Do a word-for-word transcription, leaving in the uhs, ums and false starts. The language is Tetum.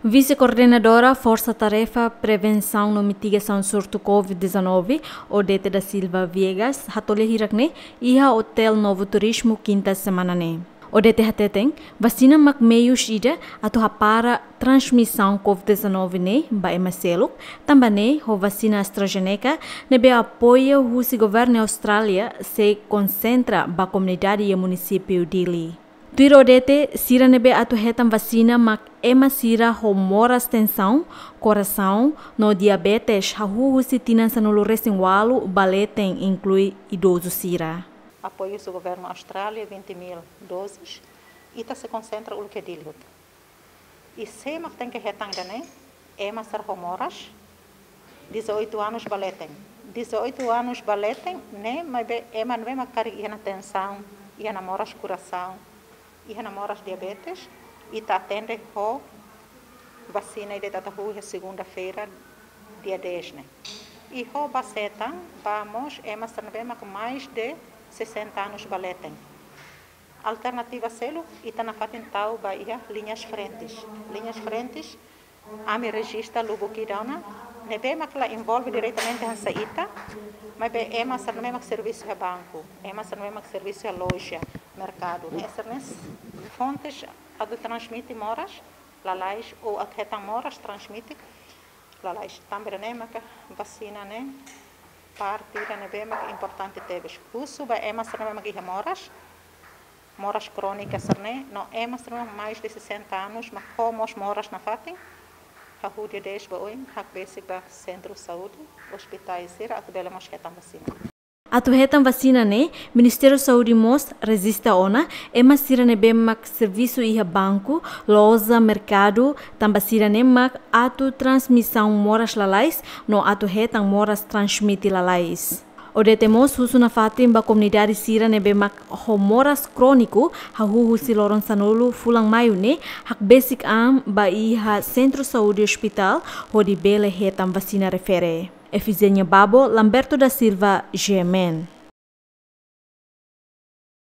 Vise-Koordenadora Forsa Tarefa Prevensaun no Mitigasaun Surtu COVID dezanove, Odete da Silva Viegas, hato'o lia hirak-ne'e iha Hotel Novo Turismo, kinta semana ne'e. Odete hateten, vasina mak meius ida atu hapara transmisaun COVID dezanove ne'e ba ema seluk, tanba ne'e ho vasina AstraZeneca ne'ebé apoiu husi governu Austrália sei konsentra ba komunidade iha munisípiu Dili. Tuir Odete, sira ne'ebé atu hetan vasina mak ema sira ho moras tensaun, korasaun no diabetes, hahú husi tinan sanulu-resin-ualu ba leten, inklui idozu sira. Apoiu husi governu Austrália, vinte mil doses, ita sei konsentra uluk iha Dili hotu. I sé mak tenke hetan ida-ne'e, ema sira ho moras dezoito anos ba leten. Dezoito anos ba leten ne'e, maibé ema ne'ebé mak karik iha ona tensaun, iha ona moras korasaun, iha ona moras diabetes, ita atende ho vasina ida ita atu hahú iha segunda-feira, dia dez ne'e. I ho ba setan, ba mós ema sira ne'ebé mak mais de sessenta anos ba leten. Alternativa seluk, ita nafatin tau ba iha liñas frentes. Liñas frentes, ami rejista lubuk ida ona, ne'ebé mak la envolve diretamente hanesan ita, maibé ema sira ne'ebé mak servisu iha banku, ema sira ne'ebé mak servisu iha loja, merkadu. Ne'e sira-ne'e fontes atu transmite moras lalais ou atu hetan moras transmite lalais. Tanba ne'e maka vasina ne'e parte ida ne'ebé mak importante tebes. Husu ba ema sira ne'ebé mak iha moras, moras krónika sira-ne'e, no ema sira ne'ebé mais de sessenta anos mak ho mós moras nafatin, hahú dia dez ba oin, hakbesik ba sentru saúde, ospitais sira atu bele mós hetan vasina. Atu hetan vasina ne'e, Ministériu Saúde mós rejista ona ema sira ne'ebé mak servisu iha banku, loja, merkadu, tanba sira-ne'e mak atu transmisaun moras lalais, no atu hetan moras transmite lalais. Odete mós husu nafatin ba komunidade sira ne'ebé mak ho moras króniku, hahú husi loron sanulu fulan Maiu ne'e, hakbesik an ba iha sentru saúde, ospitál, hodi bele hetan vasina refere. Efigénia Babo, Lamberto da Silva, G M N.